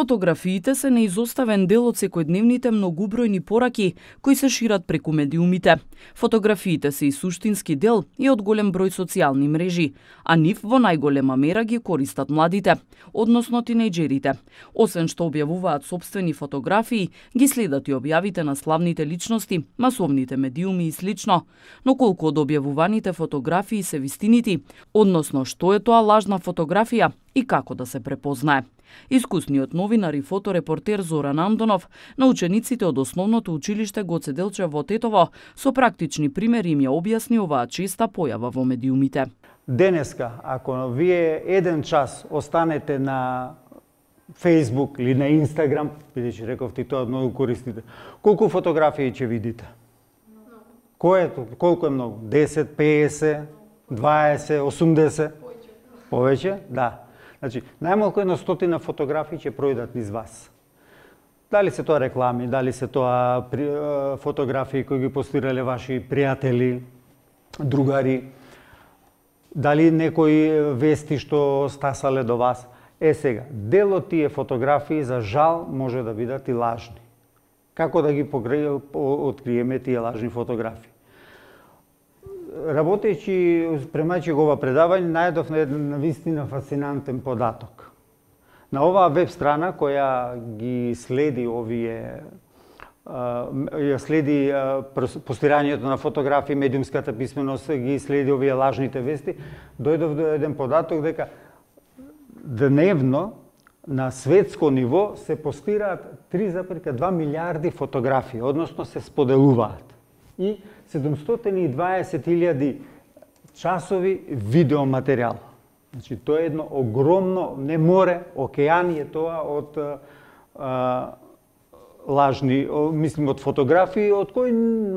Фотографиите се неизоставен дел од секојдневните многубројни пораки кои се шират преку медиумите. Фотографиите се и суштински дел и од голем број социјални мрежи, а нив во најголема мера ги користат младите, односно тинејџерите. Освен што објавуваат сопствени фотографии, ги следат и објавите на славните личности, масовните медиуми и слично. Но колку од објавуваните фотографии се вистинити, односно што е тоа лажна фотографија и како да се препознае? Искусниот новинар и фоторепортер Зоран Андонов на учениците од основното училиште Гоце Делчев во Тетово со практични примери им ја објасни оваа честа појава во медиумите. Денеска, ако вие еден час останете на Facebook или на Instagram, бидејќи рековте тоа многу користите, колку фотографии ќе видите? Колку е многу? 10, 50, 20, 80? Повеќе? Да. Значи, најмалку едно 100 фотографии ќе пројдат низ вас. Дали се тоа реклами, дали се тоа фотографии кои ги постирале ваши пријатели, другари, дали некои вести што стасале до вас. Сега, дел од тие фотографии, за жал, може да бидат и лажни. Како да ги откриеме тие лажни фотографии? Работејќи, премајќи го ова предавање, најдов на еден вистина фасцинантен податок. На оваа веб страна која ги следи следи постирањето на фотографии, медиумската писменост, ги следи овие лажните вести, дојдов до еден податок дека дневно на светско ниво се постираат 3,2 милиарди фотографии, односно се споделуваат. И 720.000 часови видеоматеријал. Значи, тоа е едно огромно, не море, океан е тоа од лажни, мислим од фотографии, од кои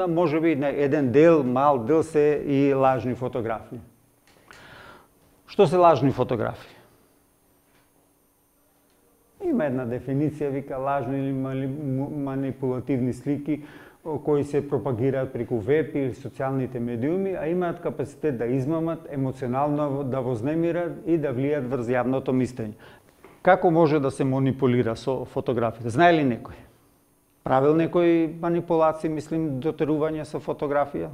може би еден дел, мал дел се и лажни фотографии. Што се лажни фотографии? Има една дефиниција, вика лажни или манипулативни слики, кои се пропагираат преку веб или социјалните медиуми, а имаат капацитет да измамат, емоционално да вознемират и да влијат врз јавното мислење. Како може да се манипулира со фотографија? Знае ли некој? Правил некој манипулации, мислим, дотерување со фотографија?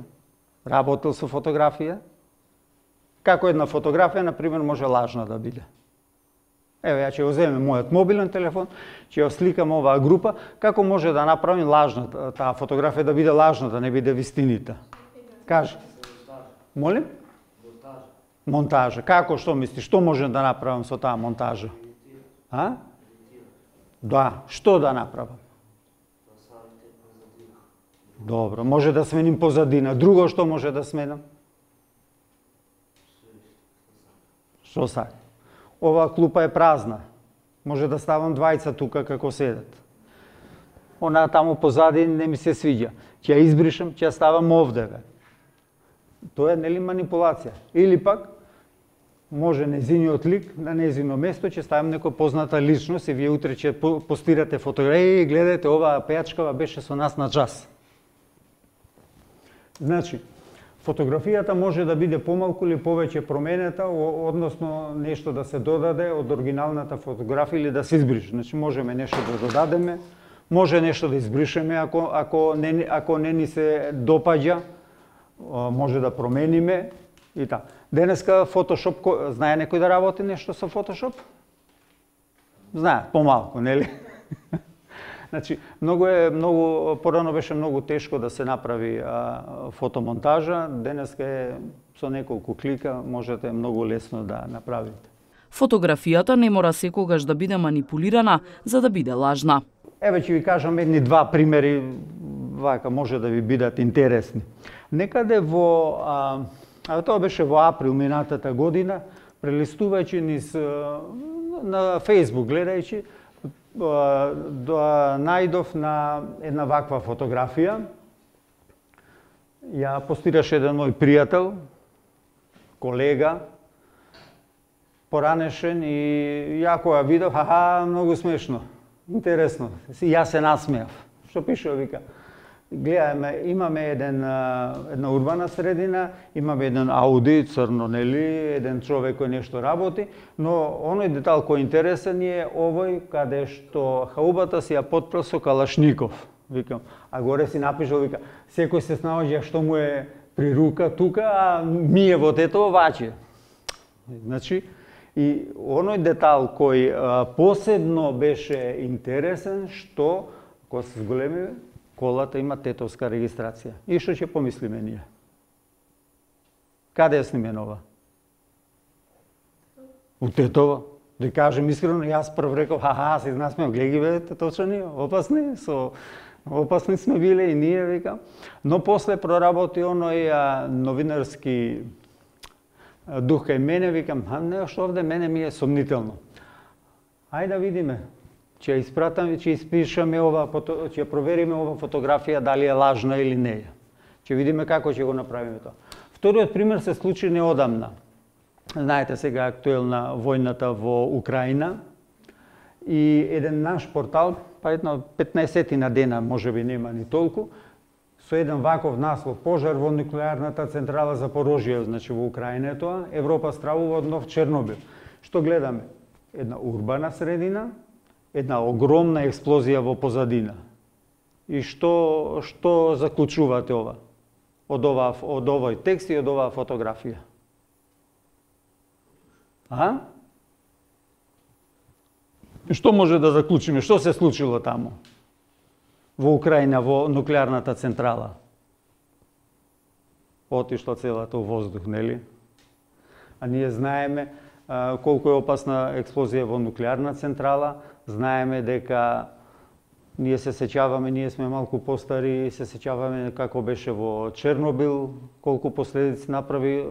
Работил со фотографија? Како една фотографија, например, може лажна да биде? Еве, ја ќе го земем мојот мобилен телефон, ќе ја сликам оваа група, како може да направим лажна таа фотографија, да биде лажна, да не биде вистинита? Кажи. Молим? Монтажа. Како, што мислиш, што може да направам со таа монтажа? А? Да, што да направам? Добро, може да сменим позадина. Друго што може да сменам? Што сакам? Оваа клупа е празна. Може да ставам двајца тука како седат. Она таму позади не ми се свиѓа. Ќе ја избришам, ќе ја ставам овде. Тоа е нели манипулација. Или пак може незиниот лик на незино место ќе ставам некоја позната личност и вие утре ќе постирате фотографија и гледајте оваа пејачкава беше со нас на час. Значи, фотографијата може да биде помалку или повеќе променета, односно нешто да се додаде од оригиналната фотографија или да се избрише. Значи можеме нешто да додадеме, може нешто да избришеме ако не ни се допаѓа, може да промениме и така. Денеска Photoshop, знае некој да работи нешто со Photoshop? Знае, помалку, нели? Значи, многу порано беше многу тешко да се направи фотомонтажа, денеска е со неколку клика можете многу лесно да направите. Фотографијата не мора секогаш да биде манипулирана за да биде лажна. Еве ќе ви кажам едни два примери, вака може да ви бидат интересни. Некаде тоа беше во април минатата година, прелистувајќи низ на Facebook гледајќи, најдов на една ваква фотографија. Ја постираше еден мој пријател, колега, поранешен и ја кога видов, многу смешно, интересно. Јас се насмеав. Што пише, вика, гледаме, имаме една урбана средина, имаме еден Ауди црно, нели, еден човек кој нешто работи, но оној детал кој е интересен е овој каде што хаубата си ја потпрел со калашников. Викам, а горе си напишал, вика, секој се снаоѓа што му е при рука тука, а ми е во тето ваче. Значи, и оној детал кој посебно беше интересен, што кога се зголеми колата има тетовска регистрација. И што ќе помислиме ние? Каде е снимено ова? У Тетово. Да кажем искрено, јас прв реков, се знасме, глеги бе, тетовчани, опасни сме биле и ние, викам. Но после проработи оној новинарски дух кај мене, викам, нешто овде мене ми е сомнително. Ајде да видиме. Ќе испратаме, ќе испишаме ќе провериме ова фотографија дали е лажна или не е. Ќе видиме како ќе го направиме тоа. Вториот пример се случи неодамна. Знаете сега актуелна војната во Украина и еден наш портал, едно 15 дена, можеби нема ни толку, со еден ваков наслов пожар во нуклеарната централа Запорожје, значи во Украина е тоа, Европа стравува од нов Чернобил. Што гледаме? Една урбана средина, една огромна експлозија во позадина. И што заклучувате ова? Од овој текст и од оваа фотографија? Што може да заклучиме? Што се случило таму? Во Украина, во нуклеарната централа? Отишло целата у воздух, нели? А ние знаеме колку е опасна експлозија во нуклеарна централа, знаеме дека ние се сеќаваме, ние сме малку постари, се сеќаваме како беше во Чернобил, колку последици направи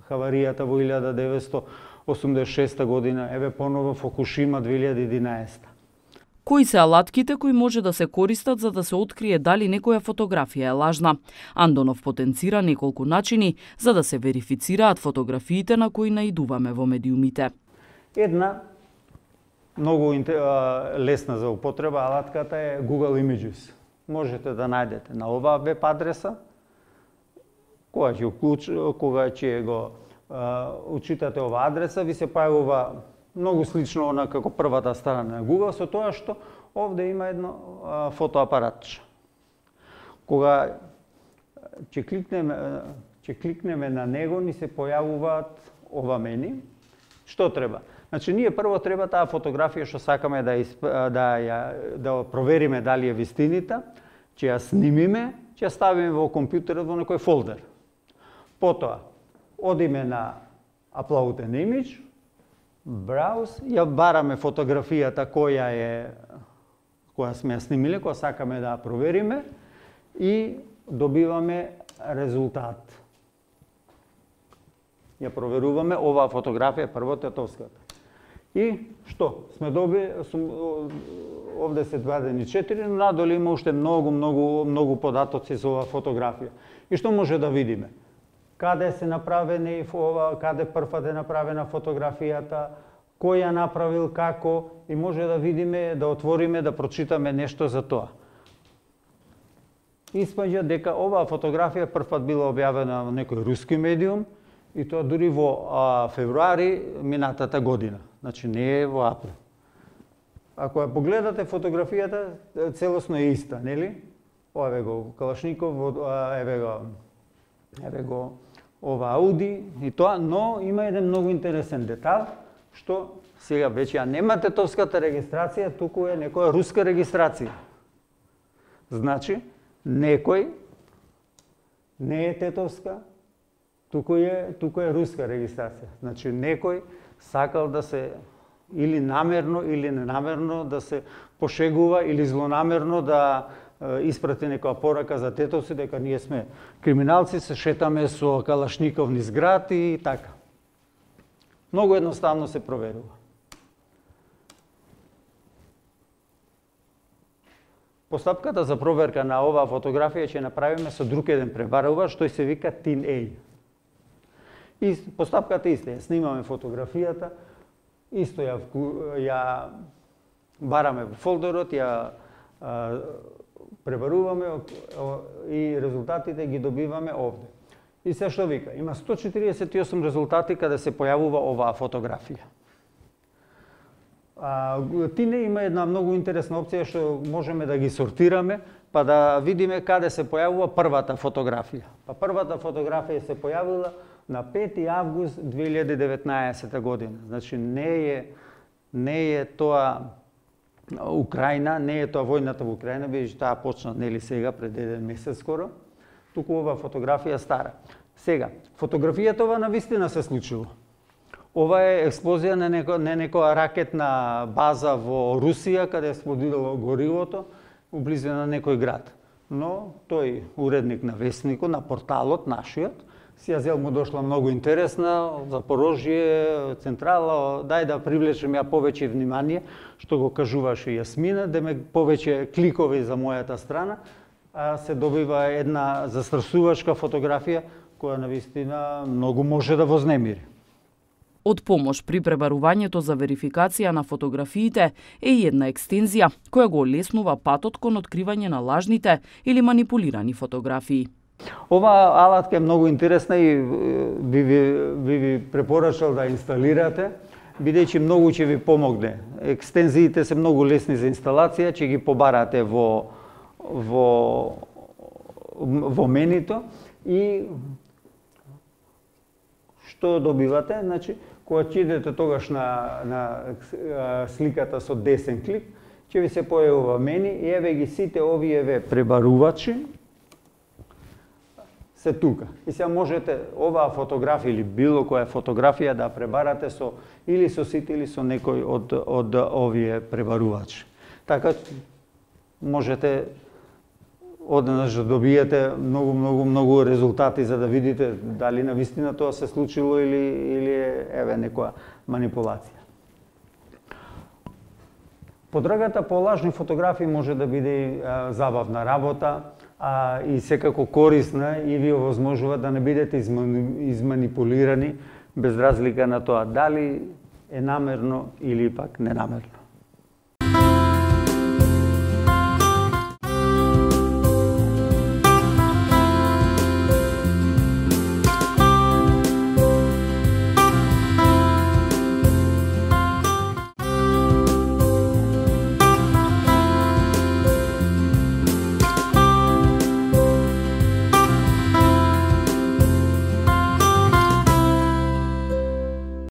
хаваријата во 1986 година, еве поново Фукушима 2011. Кои се алатките кои може да се користат за да се открие дали некоја фотографија е лажна? Андонов потенцира неколку начини за да се верифицираат фотографиите на кои наидуваме во медиумите. Една многу лесна за употреба алатката е Google Images. Можете да најдете на оваа веб адреса, кога ќе го учитате оваа адреса, ви се појавува многу слично на како првата страна на Google, со тоа што овде има едно фотоапаратче. Кога ќе кликнеме на него, ни се појавуваат ова мени. Што треба? Значи, ние прво треба таа фотографија што сакаме да провериме дали е вистинита, ќе ја снимиме, ќе ја ставиме во компјутерот во некој фолдер. Потоа, одиме на Upload an Image, Browse, ја бараме фотографијата која сме ја снимиле, која сакаме да ја провериме и добиваме резултат. Ја проверуваме оваа фотографија, прво тетовската. И што? Сме овде се дадени 4, но надолу има уште многу податоци за оваа фотографија. И што може да видиме? Каде се направени каде првпат е направена фотографијата, кој ја направил, како, и може да видиме, да отвориме, да прочитаме нешто за тоа. Испаѓа дека оваа фотографија првпат била објавена во некој руски медиум, и тоа дури во февруари минатата година. Значи не е во април. Ако ја погледате фотографијата, целосно е иста, нели? Еве го Калашников, еве го ова Ауди и тоа, но има еден многу интересен детал, што сега веќе нема тетовската регистрација, туку е некоја руска регистрација. Значи, некој не е тетовска, туку е руска регистрација. Значи, некој сакал да се или намерно или ненамерно да се пошегува или злонамерно да испрати некоја порака за тетовци дека ние сме криминалци, се шетаме со калашников низ град и така. Многу едноставно се проверува. Постапката за проверка на оваа фотографија ќе направиме со друг еден пребарувач, тој се вика TinA. И постапката иста, ја снимаме фотографијата, исто ја бараме во фолдерот, ја пребаруваме и резултатите ги добиваме овде. И се што вика, има 148 резултати каде се појавува оваа фотографија. Тине има една многу интересна опција што можеме да ги сортираме, па да видиме каде се појавува првата фотографија. Па првата фотографија се појавила на 5 август 2019 година. Значи не е тоа Украина, не е тоа војната во Украина, бидејќи таа почна нели сега пред 1 месец скоро, туку ова фотографија стара. Сега, фотографијата ова навистина се случило. Ова е експлозија на некоја ракетна база во Русија, каде експлодирало горивото у близина на некој град. Но тој уредник на вестникот, на порталот нашиот, си ја зел му дошла многу интересна, Запорожје, централа, дај да привлечем ја повеќе внимание, што го кажуваше Јасмина, демек повеќе кликови за мојата страна, се добива една застрасувачка фотографија која навистина многу може да вознемири. Од помош при пребарувањето за верификација на фотографиите е и една екстензија која го олеснува патот кон откривање на лажните или манипулирани фотографии. Ова алатка е многу интересна и би ви препорачал да инсталирате, бидејќи многу ќе ви помогне. Екстензиите се многу лесни за инсталација, ќе ги побарате во менито и што добивате, значи кога ќе идете тогаш на сликата со десен клик, ќе ви се појавува мени и еве ги сите овие пребарувачи се тука. И сега можете оваа фотографија или било која фотографија да пребарате или со сите или со некој од овие пребарувачи. Така можете однаш да добиете многу резултати за да видите дали навистина тоа се случило или еве некоја манипулација. Потрагата по лажни фотографии може да биде забавна работа, и секако корисна и ви овозможува да не бидете изманипулирани без разлика на тоа дали е намерно или пак ненамерно.